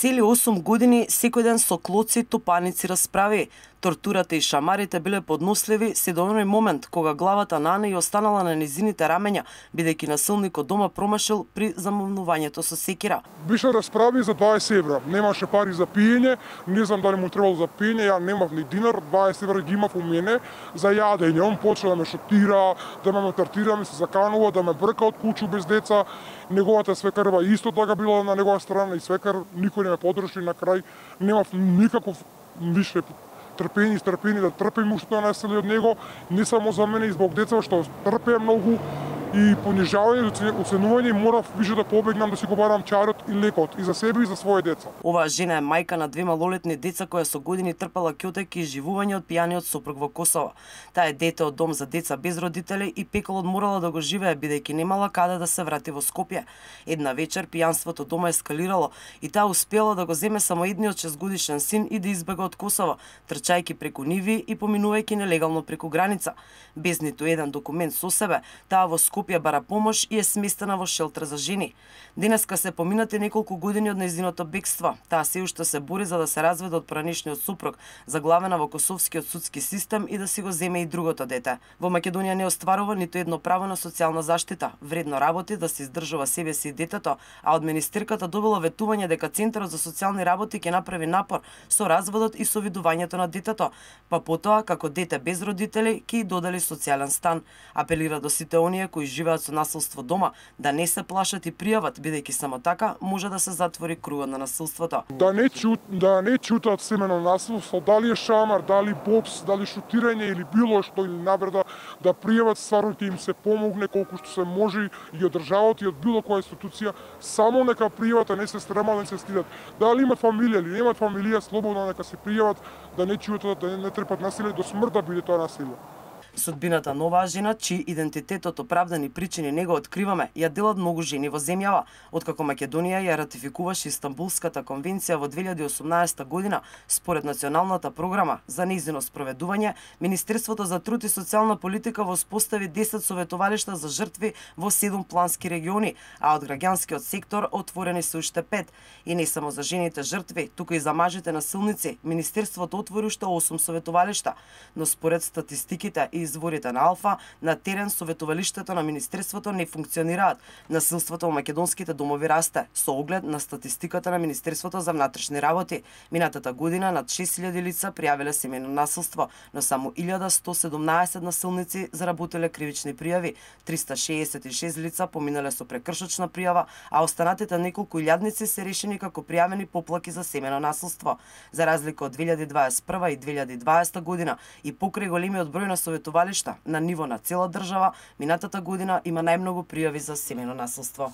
Цели 8 години секој ден со клоци, топаници расправи. Тортурата и шамарите биле подносливи се до оној момент кога главата на Ана и останала на низините рамења, бидејќи насилникот дома промашил при замавнувањето со секира. Беше расправи за 20 евра. Немаше пари за пиење, не знам дали му требало за пиење, ја немав ни динар, 20 евра ги имав у мене за јадење. Он почна да ме шотира, да ме малтретира, ми се заканува, да ме брка од куќу без деца. Неговата свекарва исто така била на негова страна и свекар никој не ме подрши, на крај немав никаков више трпение да трпим уште насилие од него, не само за мене и због деца што трпеа многу и понижавање, оценување, морав више да побегнам да си го барам чарот и лекот и за себе и за своје деца. Оваа жена е мајка на 2 малолетни деца која со години трпела ќотек и живување од пијаниот сопруг во Косово. Таа е дете од дом за деца без родители и пеколот морала да го живее бидејќи немала каде да се врати во Скопје. Една вечер пијанството дома ескалирало и таа успела да го земе само едниот 6-годишен син и да избега од Косово, трчајќи преку ниви и поминувајќи нелегално преку граница. Без ниту еден документ со себе, таа во Скопје бара помош и е сместена во шелтер за жени. Денеска се поминати неколку години од нејзиното бегство. Таа се уште се бори за да се разведе од поранешниот супруг, заглавена во косовскиот судски систем и да си го земе и другото дете. Во Македонија не остварува ниту едно право на социјална заштита. Вредно работи да се издржува себе си и детето, а од министерката добила ветување дека Центарот за социјални работи ќе направи напор со разводот и со видувањето на детето, па потоа како дете без родители ќе додели социјален стан. Апелира до сите оние кои живеат со насилство дома да не се плашат и пријават, бидејќи само така може да се затвори кругот на насилството. Да не чутат семено насилство, дали е шамар, дали бокс, дали шутирање или било што или навреда, да пријават, стварно ќе им се помогне колку што се може и од државата и од било која институција, само нека пријават, а не се стремат, не се стидат. Дали имат фамилија или немат фамилија, слободно нека се пријават, да не чутат, да не трпат насилие до смрт да биде тоа насилие. Судбината на оваа жена, чиј идентитет од оправдани причини не го откриваме, ја делат многу жени во земјава. Откако Македонија ја ратификуваше Истанбулската конвенција во 2018 година, според националната програма за нејзино спроведување, Министерството за труд и социјална политика воспостави 10 советувалишта за жртви во 7 плански региони, а од граѓанскиот сектор отворени се уште 5. И не само за жените жртви, туку и за мажите насилници, Министерството отвори уште 8 советувалишта. Но според статистиките и изворите на Алфа, на терен советувалиштата на Министерството не функционираат. Насилството во македонските домови расте, со оглед на статистиката на Министерството за внатрешни работи. Минатата година над 6000 лица пријавиле семејно насилство, но само 1117 насилници заработиле кривични пријави, 366 лица поминале со прекршочна пријава, а останатите неколку илјадници се решени како пријавени поплаки за семејно насилство. За разлика од 2021 и 2020 година и покрај големиот број на советувалишта на ниво на цела држава, минатата година има најмногу пријави за семејно насилство.